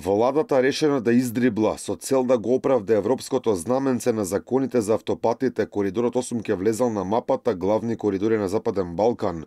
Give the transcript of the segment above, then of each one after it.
Владата решена да издрибла со цел да го оправда европското знаменце на законите за автопатите. Коридорот 8 ќе влезал на мапата главни коридори на Западен Балкан.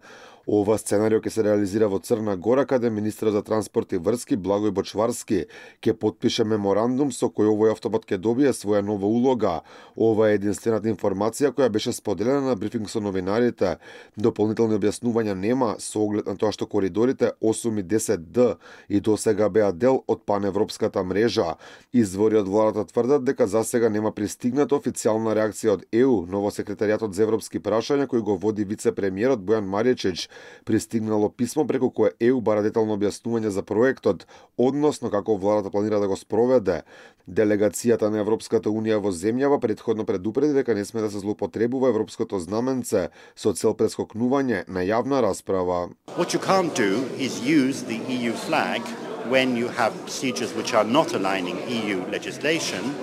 Ова сценарио ќе се реализира во Црна Гора, каде министерот за транспорт и врски Благој Бочварски ќе потпише меморандум со кој овој автопат ќе добие своја нова улога. Ова е единствената информација која беше споделена на брифинг со новинарите. Дополнителни објаснувања нема со оглед на тоа што коридорите 8 и 10Д и досега беа дел од паневропската мрежа. Извори од владата тврдат дека засега нема пристигната официјална реакција од ЕУ, но во секретаријатот за европски прашања кој го води вице-премиерот Бојан Маричич пристигнало писмо преку кое ЕУ бара детално објаснување за проектот, односно како владата планира да го спроведе. Делегацијата на Европската унија во земјава претходно предупреди дека не сме да се злоупотребува европското знаменце со цел прескокнување на јавна расправа. What you can't do is use the EU flag when you have procedures which are not aligning EU legislation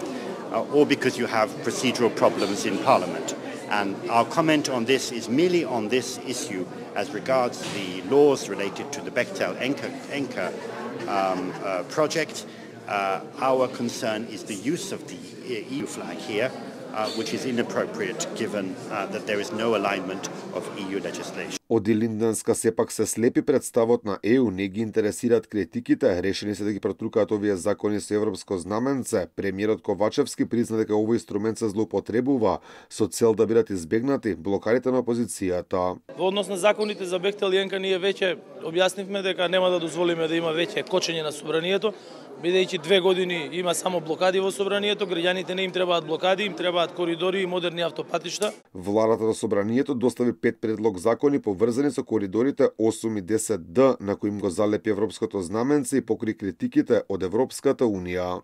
or because you have procedural problems in Parliament. And our comment on this is merely on this issue as regards the laws related to the Bechtel Enka project. Our concern is the use of the EU flag here, which is inappropriate given that there is no alignment of EU legislation. Од Илинденска сепак се слепи представот на ЕУ, не ги интересираат критиките, решени се да ги протрукаат овие закони со европско знаменце. Премиерот Ковачевски призна дека овој инструмент се злоупотребува со цел да бидат избегнати блокарите на опозицијата. Во однос на законите за Бехтел и Енка ние веќе објаснивме дека нема да дозволиме да има веќе кочење на собранието, бидејќи 2 години има само блокади во собранието, граѓаните не им требаат блокади, им требаат коридори и модерни автопатишта. Владата на собранието достави 5 предлог закони поврзани со коридорите 8 и 10Д, на кои им го залепи европското знаменце и покри критиките од Европската унија.